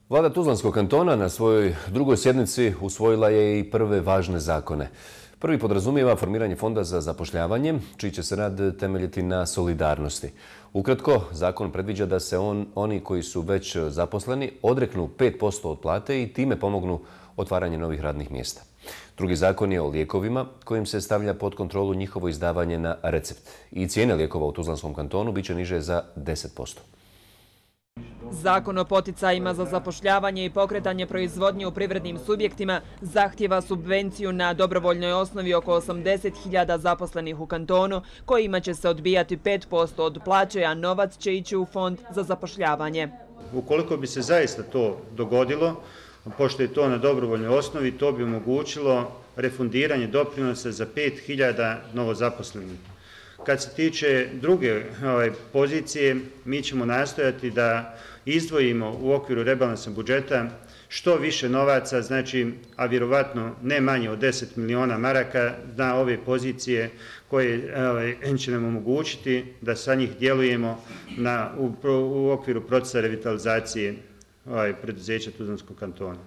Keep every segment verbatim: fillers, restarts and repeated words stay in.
Vlada Tuzlanskog kantona na svojoj drugoj sjednici usvojila je i prve važne zakone. Prvi podrazumijeva formiranje fonda za zapošljavanje, čiji će se rad temeljiti na solidarnosti. Ukratko, zakon predviđa da se on, oni koji su već zaposleni odreknu pet posto od plate i time pomognu otvaranje novih radnih mjesta. Drugi zakon je o lijekovima, kojim se stavlja pod kontrolu njihovo izdavanje na recept. I cijene lijekova u Tuzlanskom kantonu bit će niže za deset posto. Zakon o poticajima za zapošljavanje i pokretanje proizvodnje u privrednim subjektima zahtjeva subvenciju na dobrovoljnoj osnovi oko osamdeset hiljada zaposlenih u kantonu, kojima će se odbijati pet posto od plaće, a novac će ići u fond za zapošljavanje. Ukoliko bi se zaista to dogodilo, pošto je to na dobrovoljnoj osnovi, to bi omogućilo refundiranje doprinosa za pet hiljada novozaposlenih. Kad se tiče druge ovaj, pozicije, mi ćemo nastojati da izdvojimo u okviru rebalansa budžeta što više novaca, znači, a vjerovatno ne manje od deset miliona maraka na ove pozicije koje ovaj, će nam omogućiti da sa njih djelujemo na, u, u okviru procesa revitalizacije ovaj, preduzeća Tuzlanskog kantona.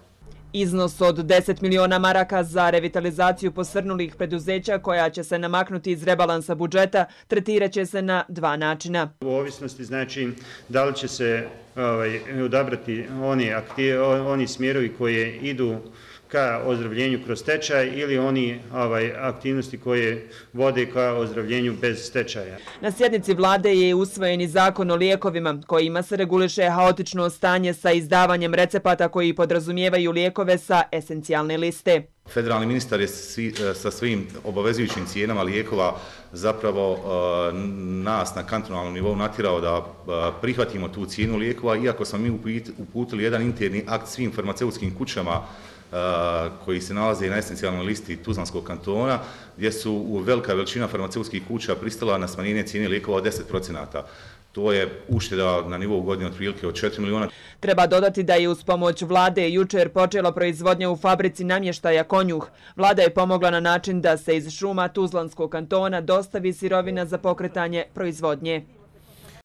Iznos od deset miliona maraka za revitalizaciju posrnulih preduzeća koja će se namaknuti iz rebalansa budžeta tretirat će se na dva načina. U ovisnosti znači da li će se ovaj, odabrati oni, aktiv, oni smjerovi koje idu ka ozdravljenju kroz stečaj ili oni ovaj, aktivnosti koje vode ka ozdravljenju bez stečaja. Na sjednici vlade je usvojen i zakon o lijekovima, kojima se reguliše haotično stanje sa izdavanjem recepata koji podrazumijevaju lijekove sa esencijalne liste. Federalni ministar je svi, sa svim obavezujućim cijenama lijekova zapravo uh, nas na kantonalnom nivou natjerao da uh, prihvatimo tu cijenu lijekova, iako smo mi uputili jedan interni akt svim farmaceutskim kućama Uh, koji se nalaze na esencijalnoj listi Tuzlanskog kantona, gdje su u velika veličina farmaceutskih kuća pristala na smanjenje cijene lijekova od deset posto. To je ušteda na nivou godine otprilike od četiri miliona. Treba dodati da je uz pomoć vlade jučer počela proizvodnja u fabrici namještaja Konjuh. Vlada je pomogla na način da se iz šuma Tuzlanskog kantona dostavi sirovina za pokretanje proizvodnje.